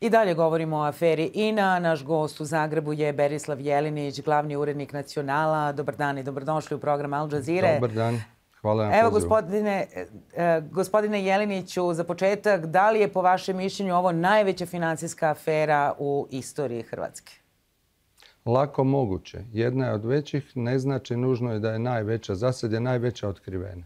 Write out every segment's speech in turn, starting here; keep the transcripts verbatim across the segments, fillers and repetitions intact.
I dalje govorimo o aferi I N A. Naš gost u Zagrebu je Berislav Jelinić, glavni urednik Nacionala. Dobar dan i dobrodošli u program Al Jazeere. Dobar dan. Hvala na Evo, pozivu. gospodine, gospodine Jeliniću, za početak, da li je po vašem mišljenju ovo najveća financijska afera u istoriji Hrvatske? Lako moguće. Jedna je od većih, ne znači nužno je da je najveća. Za sad je najveća otkrivena.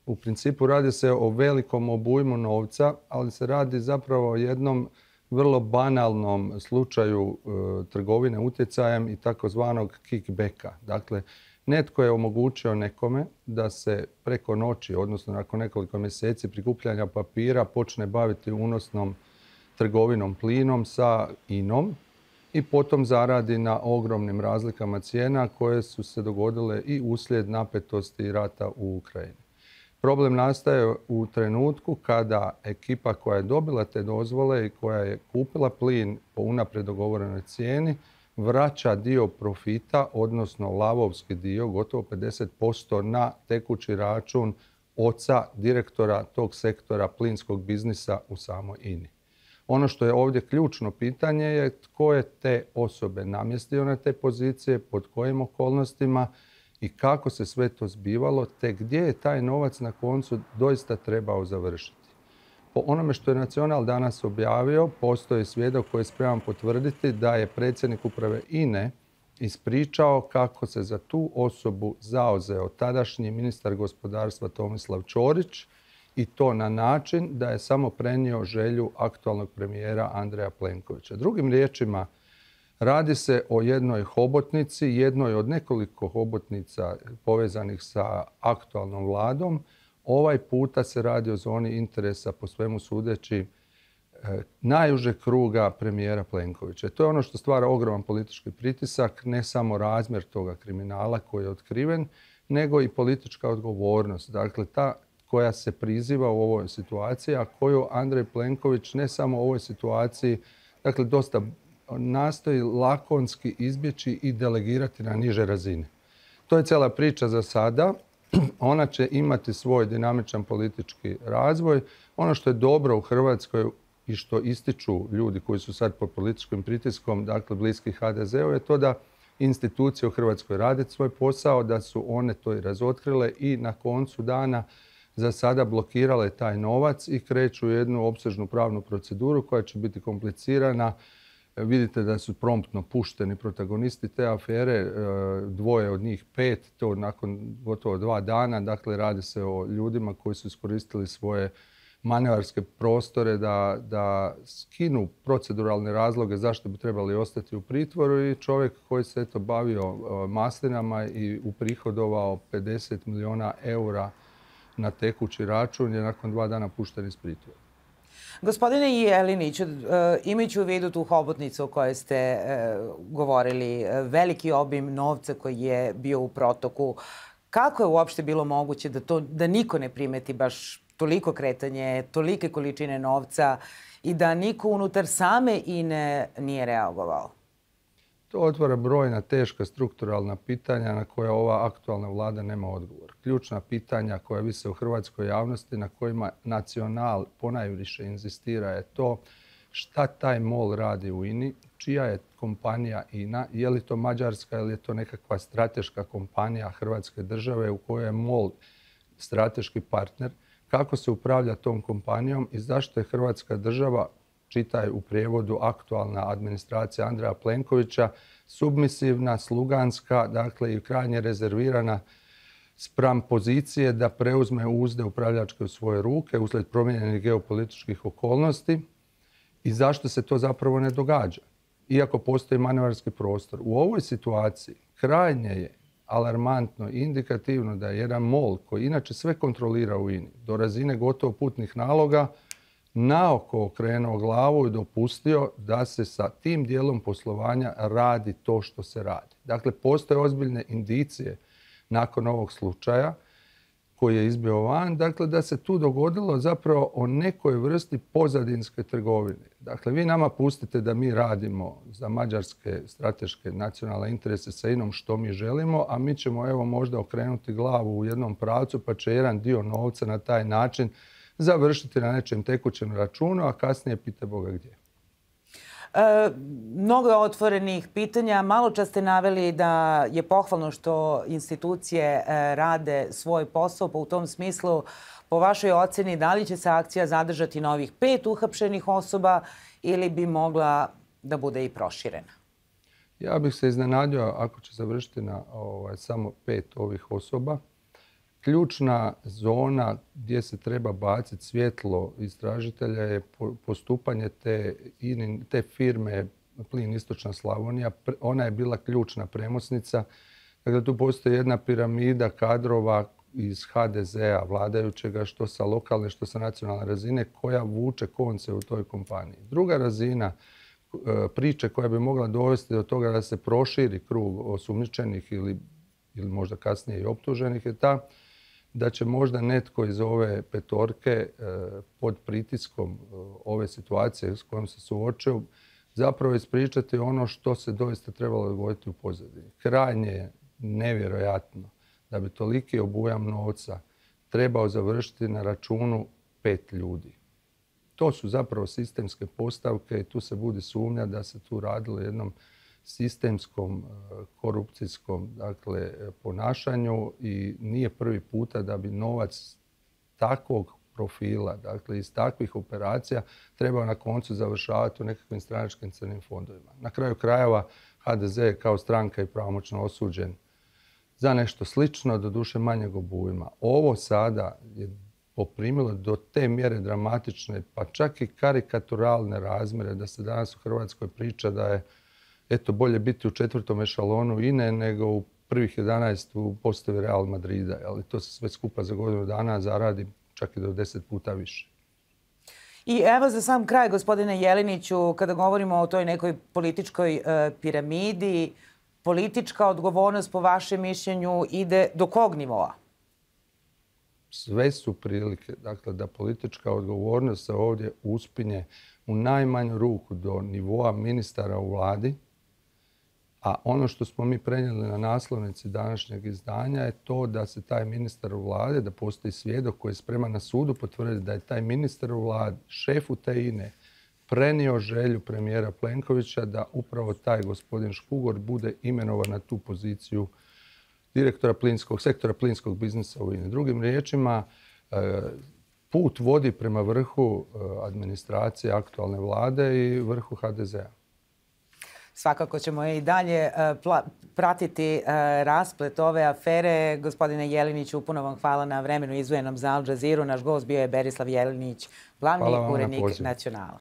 U principu radi se o velikom obujmu novca, ali se radi zapravo o jednom vrlo banalnom slučaju e, trgovine utjecajem i takozvanog kickbacka. Dakle, netko je omogućio nekome da se preko noći, odnosno nakon nekoliko mjeseci prikupljanja papira, počne baviti unosnom trgovinom plinom sa I N om i potom zaradi na ogromnim razlikama cijena koje su se dogodile i uslijed napetosti rata u Ukrajini. Problem nastaje u trenutku kada ekipa koja je dobila te dozvole i koja je kupila plin po unaprijed dogovorenoj cijeni vraća dio profita, odnosno lavovski dio, gotovo pedeset posto na tekući račun oca direktora tog sektora plinskog biznisa u samoj I N I. Ono što je ovdje ključno pitanje je tko je te osobe namjestio na te pozicije, pod kojim okolnostima i kako se sve to zbivalo, te gdje je taj novac na koncu doista trebao završiti. Po onome što je Nacional danas objavio, postoji svjedok koji je spreman potvrditi da je predsjednik uprave I N E ispričao kako se za tu osobu zauzeo tadašnji ministar gospodarstva Tomislav Ćorić i to na način da je samo prenio želju aktualnog premijera Andreja Plenkovića. Drugim riječima, radi se o jednoj hobotnici, jednoj od nekoliko hobotnica povezanih sa aktualnom vladom. Ovaj puta se radi o zoni interesa, po svemu sudeći, najužeg kruga premijera Plenkovića. To je ono što stvara ogroman politički pritisak, ne samo razmjer toga kriminala koji je otkriven, nego i politička odgovornost. Dakle, ta koja se priziva u ovoj situaciji, a koju Andrej Plenković ne samo u ovoj situaciji, dakle, dosta nastoji lakonski izbjeći i delegirati na niže razine. To je cijela priča za sada. Ona će imati svoj dinamičan politički razvoj. Ono što je dobro u Hrvatskoj i što ističu ljudi koji su sad pod političkim pritiskom, dakle bliski H D Z-u, je to da institucije u Hrvatskoj rade svoj posao, da su one to i razotkrile i na koncu dana za sada blokirale taj novac i kreću jednu opsežnu pravnu proceduru koja će biti komplicirana. Vidite da su promptno pušteni protagonisti te afere, dvoje od njih pet, to nakon gotovo dva dana. Dakle, radi se o ljudima koji su iskoristili svoje manevarske prostore da, da skinu proceduralne razloge zašto bi trebali ostati u pritvoru i čovjek koji se eto bavio maslinama i uprihodovao pedeset milijuna eura na tekući račun je nakon dva dana pušten iz pritvora. Gospodine Jeliniću, imajući u vidu tu hobotnicu o kojoj ste govorili, veliki obim novca koji je bio u protoku, kako je uopšte bilo moguće da, to, da niko ne primeti baš toliko kretanje, tolike količine novca i da niko unutar same I N E nije reagovao? To otvara brojna teška strukturalna pitanja na koja ova aktualna vlada nema odgovor. Ključna pitanja koja vise u hrvatskoj javnosti na kojima Nacional ponajviše inzistira je to šta taj MOL radi u I N I, čija je kompanija I N A, je li to mađarska ili je to nekakva strateška kompanija Hrvatske države u kojoj je MOL strateški partner, kako se upravlja tom kompanijom i zašto je Hrvatska država, čitaj u prijevodu aktualna administracija Andreja Plenkovića, submisivna, sluganska, dakle i krajnje rezervirana spram pozicije da preuzme uzde upravljačke u svoje ruke uslijed promijenjenih geopolitičkih okolnosti i zašto se to zapravo ne događa, iako postoji manevarski prostor. U ovoj situaciji krajnje je alarmantno i indikativno da je jedan MOL koji inače sve kontrolira u I N I do razine gotovo putnih naloga naoko okrenuo glavu i dopustio da se sa tim dijelom poslovanja radi to što se radi. Dakle, postoje ozbiljne indicije nakon ovog slučaja koji je izbio van, dakle da se tu dogodilo zapravo o nekoj vrsti pozadinske trgovine. Dakle, vi nama pustite da mi radimo za mađarske strateške nacionalne interese sa I N om što mi želimo, a mi ćemo evo možda okrenuti glavu u jednom pravcu pa će jedan dio novca na taj način završiti na nečem tekućem računu, a kasnije pite Boga gdje. E, mnogo je otvorenih pitanja. Malo čas ste naveli da je pohvalno što institucije e, rade svoj posao, pa u tom smislu, po vašoj oceni, da li će se akcija zadržati na ovih pet uhapšenih osoba ili bi mogla da bude i proširena? Ja bih se iznenadio ako će završiti na ovaj, samo pet ovih osoba. Ključna zona gdje se treba baciti svjetlo istražitelja je postupanje te, te firme Plin Istočna Slavonija. Ona je bila ključna premosnica. Dakle, tu postoji jedna piramida kadrova iz ha de zea vladajućega, što sa lokalne, što sa nacionalne razine, koja vuče konce u toj kompaniji. Druga razina priče koja bi mogla dovesti do toga da se proširi krug osumnjičenih ili, ili možda kasnije i optuženih je ta da će možda netko iz ove petorke pod pritiskom ove situacije s kojom se suočio zapravo ispričati ono što se doista trebalo dogoditi u pozadini. Krajnje je nevjerojatno da bi toliki obujam novca trebao završiti na računu pet ljudi. To su zapravo sistemske postavke i tu se budi sumnja da se tu radilo o jednom sistemskom korupcijskom dakle, ponašanju i nije prvi puta da bi novac takvog profila, dakle iz takvih operacija, trebao na koncu završavati u nekakvim stranačkim crnim fondovima. Na kraju krajeva ha de ze je kao stranka i pravomoćno osuđen za nešto slično, doduše manjeg obujma. Ovo sada je poprimilo do te mjere dramatične, pa čak i karikaturalne razmjere, da se danas u Hrvatskoj priča da je eto bolje biti u četvrtom ešalonu I N E nego u prvih jedanaest u postavi Real Madrida. Ali to se sve skupa za godinu dana zaradi čak i do deset puta više. I evo za sam kraj, gospodine Jeliniću, kada govorimo o toj nekoj političkoj e, piramidi, politička odgovornost po vašem mišljenju ide do kog nivoa? Sve su prilike, dakle, da politička odgovornost se ovdje uspinje u najmanju ruku do nivoa ministara u vladi, a ono što smo mi prenijeli na naslovnici današnjeg izdanja je to da se taj ministar u vladi, da postoji svjedok koji je spreman na sudu potvrditi da je taj ministar u vladi, šefu te I N E, prenio želju premijera Plenkovića da upravo taj gospodin Škugor bude imenovan na tu poziciju direktora plinskog, sektora plinskog biznisa u I N E. Drugim riječima, put vodi prema vrhu administracije aktualne vlade i vrhu ha de zea. Svakako ćemo i dalje pratiti rasplet ove afere. Gospodine Jeliniću, puno vam hvala na vremenu izdvojenom za Al Jazeeru. Naš gost bio je Berislav Jelinić, glavni urednik Nacionala.